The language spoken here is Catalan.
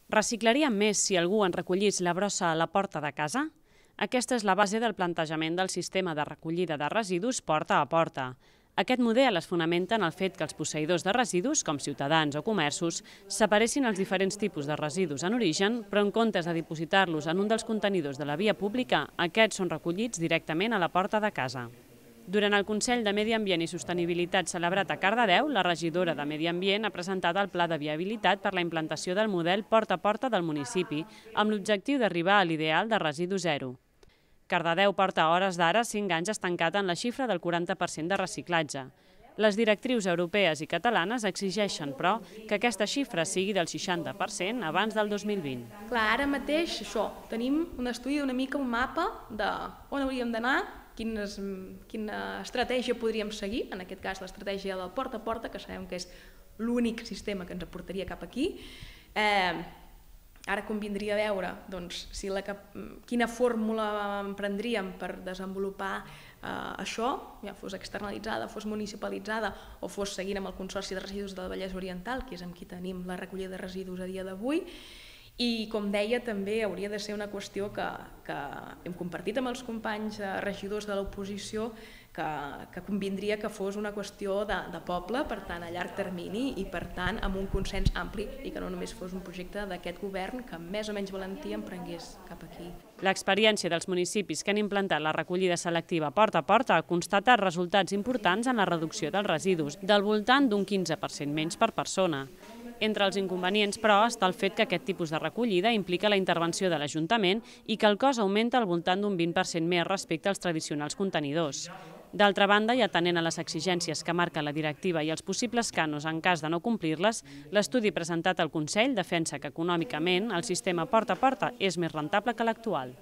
Reciclaríem més si algú en recollís la brossa a la porta de casa? Aquesta és la base del plantejament del sistema de recollida de residus porta a porta. Aquest model es fonamenta en el fet que els posseïdors de residus, com ciutadans o comerços, separessin els diferents tipus de residus en origen, però en comptes de dipositar-los en un dels contenidors de la via pública, aquests són recollits directament a la porta de casa. Durant el Consell de Medi Ambient i Sostenibilitat celebrat a Cardedeu, la regidora de Medi Ambient ha presentat el Pla de Viabilitat per la implantació del model porta a porta del municipi, amb l'objectiu d'arribar a l'ideal de residu zero. Cardedeu porta a hores d'ara 5 anys estancat en la xifra del 40% de reciclatge. Les directrius europees i catalanes exigeixen, però, que aquesta xifra sigui del 60% abans del 2020. Clar, ara mateix això, tenim un estudi una mica un mapa d'on hauríem d'anar, quina estratègia podríem seguir, en aquest cas l'estratègia del porta a porta, que sabem que és l'únic sistema que ens aportaria cap aquí. Ara convindria veure quina fórmula emprendríem per desenvolupar això, ja fos externalitzada, fos municipalitzada o fos seguint amb el Consorci de Residus del Vallès Oriental, que és amb qui tenim la recollida de residus a dia d'avui. I, com deia, també hauria de ser una qüestió que hem compartit amb els companys regidors de l'oposició, que convindria que fos una qüestió de poble, per tant, a llarg termini i, per tant, amb un consens ampli i que no només fos un projecte d'aquest govern que amb més o menys valentia emprengués cap aquí. L'experiència dels municipis que han implantat la recollida selectiva porta a porta constata resultats importants en la reducció dels residus, del voltant d'un 15% menys per persona. Entre els inconvenients, però, està el fet que aquest tipus de recollida implica la intervenció de l'Ajuntament i que el cost augmenta al voltant d'un 20% més respecte als tradicionals contenidors. D'altra banda, i atenent a les exigències que marca la directiva i els possibles cànons en cas de no complir-les, l'estudi presentat al Consell defensa que econòmicament el sistema porta a porta és més rentable que l'actual.